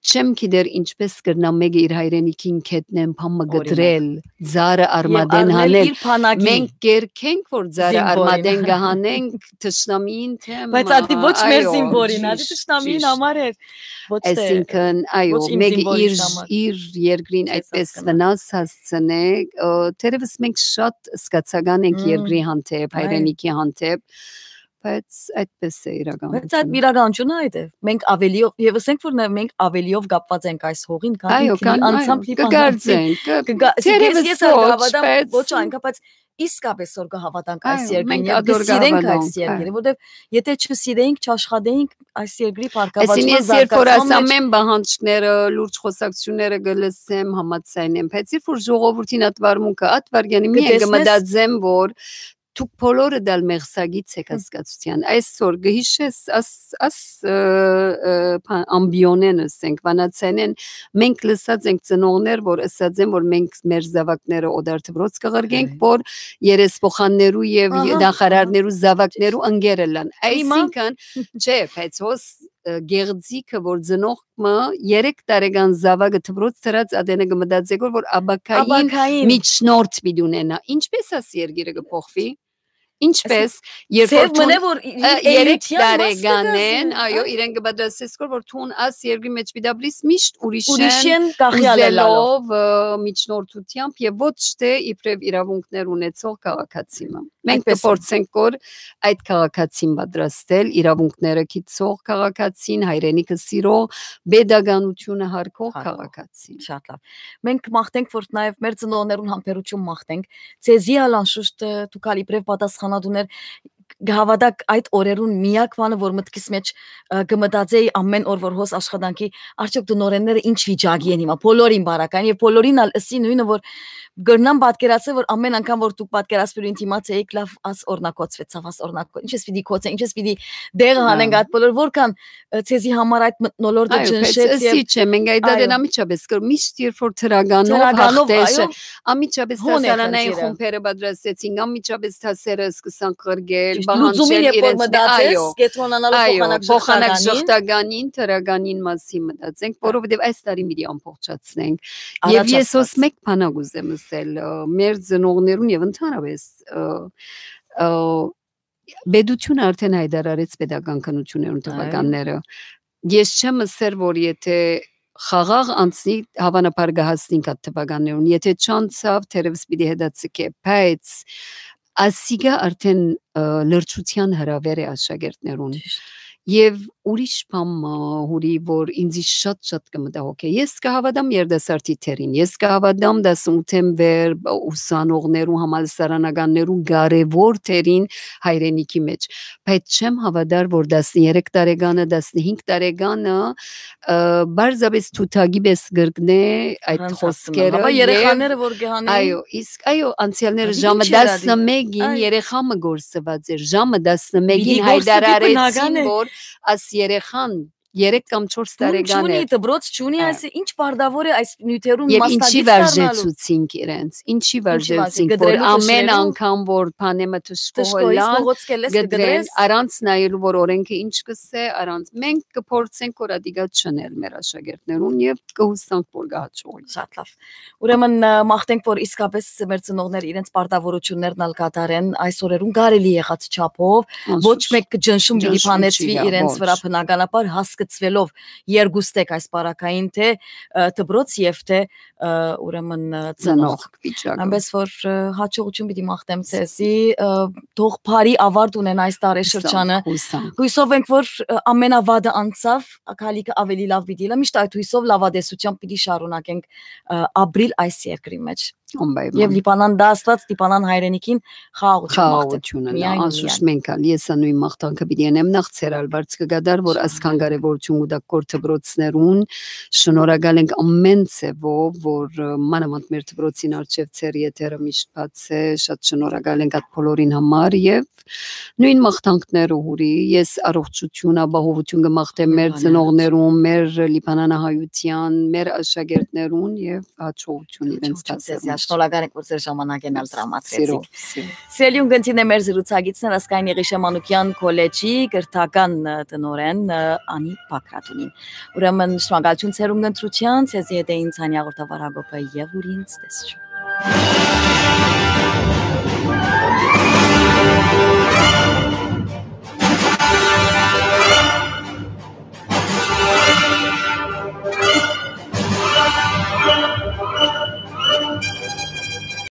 Չեմ գիտեր ինչպես կրնա մեկը իր հայրենիքին գետնեն բան մը Օրինակ։ գտրել, ձարը Եւ արմատեն առնել հանել։ իր բանակին Մենք կերքենք, որ ձարը զինվորին։ արմատեն կհանենք, թշնամիին թեմ, Բայց ադի ոչ մեր այո, զինվորին, ադի ճիշտ, թշնամիին ճիշտ։ համար էր, ոչ թե, Այսինքն, այո, ոչ իմ մեկը զինվորիս իր, համար։ իր երկրին Չես այդպես հասկնա։ վնաս հասցնե, ը, թերևս մենք շատ սկացական ենք Մմ։ երկրի հանդեպ, Այ։ հայրենիքի հանդեպ, բայց այդպես է իրականությունը։ Բայց այդ իրականությունը այդ է։ Մենք ավելիով, եւ ասենք, որ նե-, մենք ավելիով կապված ենք այս հողին, քան Այո, ինքնի քան, անցամբ այո, Լիբանանին։ կգարձենք, կը-, Կգա-, թերևս ես, ես ալ ոչ, կհավատամ, բայց ոչ այնքան, բայց իսկապես որ կհավատանք այս Այո, երկրին մենք եւ ադոր կսիրենք կհավատանք, այս երկիրը, այո։ որտեւ եթե չսիրեինք, չաշխատեինք, այս երկրի Այսինքն բարգավաճման ես երբ որ զարգացման այս մեջ ամեն պահանջները, լուրջ խոսակցությունները կը լսեմ, համաձայն եմ, բայց երբ որ ժողովրդին ատվարմունքը, ատվարգյանի միայն կը կտեսնես մտածեմ, որ դուք բոլորը դալ մեղսագից եք Հմ։ հասկացության։ Այսօր կհիշես աս, աս, ը, ը, փա-, ամբիոնեն, ասենք, վանացայնեն, մենք լսած ենք ծնողներ, որ ըսած են, որ մենք մեր զավակները օտար դպրոց կղրկենք, Այ։ որ երեսփոխաններու եւ Ահա, ահա։ նախարարներու զավակներու ընկերը լան։ Հիմա Այսինքն, չէ, բայց հոս ը, գեղձիկը, որ ծնողքը երեք տարեկան զաւակը դպրոց դրած ատենը կը մտածէ, որ, որ ապագային Ապագային։ Միջնորդ պիտի ունենայ։ Ինչպէս աս երկիրը կը փոխուի։ Ինչպէս, երբ Ձեր որ մնե, դուն, որ ը, երեք էության մասը տարեկանեն, կը այո, իրեն կը պատրաստես, որ, որ դուն աս երկրի մէջ պիտի ապրիս միշտ ուրիշեն ուրիշեն կախեալ ելալով։ Ուզելով, ը, միջնորդությամբ եւ ոչ թե իբրեւ իրաւունքներ ունեցող քաղաքացի մը։ Մենք Այդպես է։ կփորձենք, որ այդ քաղաքացին պատրաստել, իրաւունքները գիտող քաղաքացին, հայրենիքը սիրող, պետականությունը հարգող Հարգող։ քաղաքացին։ Շատ լավ։ Մենք մաղթենք, որ նաեւ մեր ծնողներուն համբերություն մաղթենք։ Ձեզի ալ անշուշտ, ը, դուք ալ իբրեւ պատասխանատուներ կհաւատաք այդ օրերուն միակ բանը, որ մտքիս մէջ, ը, կը մտածեի ամեն օր, որ հոս աշխատանքի, արդյոք տնօրենները ինչ վիճակի են հիմա, բոլորին բարական, եւ բոլորին ալ ըսի նոյնը, որ կրնամ պատկերացնել, որ ամեն անգամ, որ դուք պատկերացնելու դիմաց էիք, լավ, աս օրնակոծվեցաւ, աս օրնակոծ-, ինչպես պիտի կոծե, ինչպես պիտի դեղը Հա։ հանենք այդ բոլոր, որքան, ը, ձեզի համար այդ մթնոլորտը Այո, բայց ճնշեց ըսի եւ չէ, մենք այդ Այո։ ատեն անմիջապես կր-, միշտ երբ որ դրականով Դրականով, հաղթեշը, այո, անմիջապես հոն է դասարանային խնդիրը։ խումբերը պատրաստեցինք, անմիջապես դասերը սկսանք ղրկել, Ճիշտ, պահանջել լուծումին երբ որ իրենց մե-, մտածես, այո, կեդրոնանալով այո, փոխանակ փոխանակ ժխտականին։ ժխտականին, դրականին մասին մտածենք, Հա։ որովհետեւ այս տարի պիտի ամբողջացնենք։ Առաջ Եվ ես հոս Աստված։ մեկ բանակ ուզեմ ըսել, ը, մեր ծնողներուն եւ ընդհանրապես, ը, ը, պետությունը արդեն հայտարարեց պետական քննություններուն Այո։ թվականները։ Ես չեմ ըսեր, որ եթե խաղաղ անցնի, հավանաբար կհասնենք այդ թվականներուն։ Եթե չանցաւ, թերևս պիտի հետաձգէ, բայց ասիկա արդեն, ը, լրջության հրաւեր է աշակերտներուն։ Ճիշտ։ Եւ ուրիշ բան մը, Հուրի, որ ինձի շատ-շատ կը մտահոգէ։ Ես կհաւատամ երիտասարդի դերին, ես կհաւատամ դասունութէն վեր, ուսանողներու, համալսարանականներու կարեւոր դերին հայրենիքի մէջ, բայց չեմ հաւատար, որ տասներեք տարեկանը, տասնհինգ տարեկանը, ը, պարզապէս թութակի պէս կրկնէ այդ Առանց խոսքերը. Հապա երեխաները որ կհանեն։ Այո, իսկ, այո, անցյալները Ա, ժամը ինչ եղած է։ տասնմեկին Այ։ երեխա մը գործուած էր, ժամը տասնմեկին Պիտի գործ-, հայտարարեցին, պիտի բնական է։ որ աս երեխան երեք կամ չորս Տուն տարեկան չունի, էր։ դպրոց չունի, Հա։ այս ինչ բարդավոր է այս նիւթերուն Եվ ինչի մասնակից դառնալու։ վարժեցուցինք իրենց, ինչի Ինչի վարժեցինք, վարժեցինք, որ կտրելու ամեն թշերու։ անգամ, որ բանեմը թշկողը Թշկոյից լան, մողոց կելես կը կդրեն, կդրես։ Առանց նայելու, որ օրենքը ինչ կսե, առանց, մենք կփորձենք, որ ադիգա չնել մեր աշակերտներուն եւ կհուսանք, որ կհաջողի։ Շատ լավ։ Ուրեմն, ը, մաղթենք, որ իսկապես մեր ծնողները իրենց պարտավորություններն ալ կատարեն այս օրերուն կարելի եղած չափով, ոչ Անշուշտ։ մեկ ճնշում պիտի Ճնշում բանեցվի չի գա, իրենց ոչ։ վրա բնականաբար հասկցվելով երկուստեք այս պարագային, թե, ը, դպրոց եւ թե, ը, ուրեմն, ը, ծնող։ Ծնող վիճակը։ Այնպես որ, ը, հաջողություն պիտի մաղթեմ ձեզի, ը, թող բարի ավարտ ունենա այս տարեշրջանը։ Հուսանք, հուսանք։ Հույսով ենք, որ, ը, ամենավատը անցաւ, ակալիքը ավելի լավ պիտի լա, միշտ այդ հույսով լավատեսությամբ պիտի շարունակենք, ը, ապրիլ այս երկրի մեջ։ Անպայման։ Եվ Լիբանան դա Աստված, Լիբանան հայրենիքին խաղաղություն մաղթենք։ Խաղաղությունը լա, Միայն, անշուշտ միայն։ մենք ալ, ես ա նոյն մաղթանքը պիտի անեմ, նախ ձեր ալ բարձ կգադար, որ Շնորհակալ։ այսքան կարևորություն կու տաք քոր դպրոցներուն, շնորհակալ ենք ամեն ձևով, որ, ը, մանավանդ մեր դպրոցին առջեւ ձեր եթերը միշտ բաց է, շատ շնորհակալ ենք այդ բոլորին համար եւ նոյն մաղթանքները, Հուրի, ես առողջություն, ապահովություն կը մաղթեմ մեր Լիբանան։ ծնողներուն, մեր լիբանանահայության, մեր աշակերտներուն եւ հաջողություն իրենց Հաջողություն ձեզի, դասերուն։ շնորհակալ ենք, որ ձեր ժամանակեն ալ տրամադրեցիք։ Սիրով, սիրով։ Սիրելի ունգընտիրներ, մեր զրուցակիցն էր Ազգային Եղիշե Մանուկեան քոլեջի կրթական, ը, տնօրեն, ը, Անի Բագրատունին։ Ուրեմն շնորհակալություն ձեր ունգընտրության, ձեզի հետ էին Ցանի հաղորդավար Հակոբը եւ Հուրին, ցտեսություն։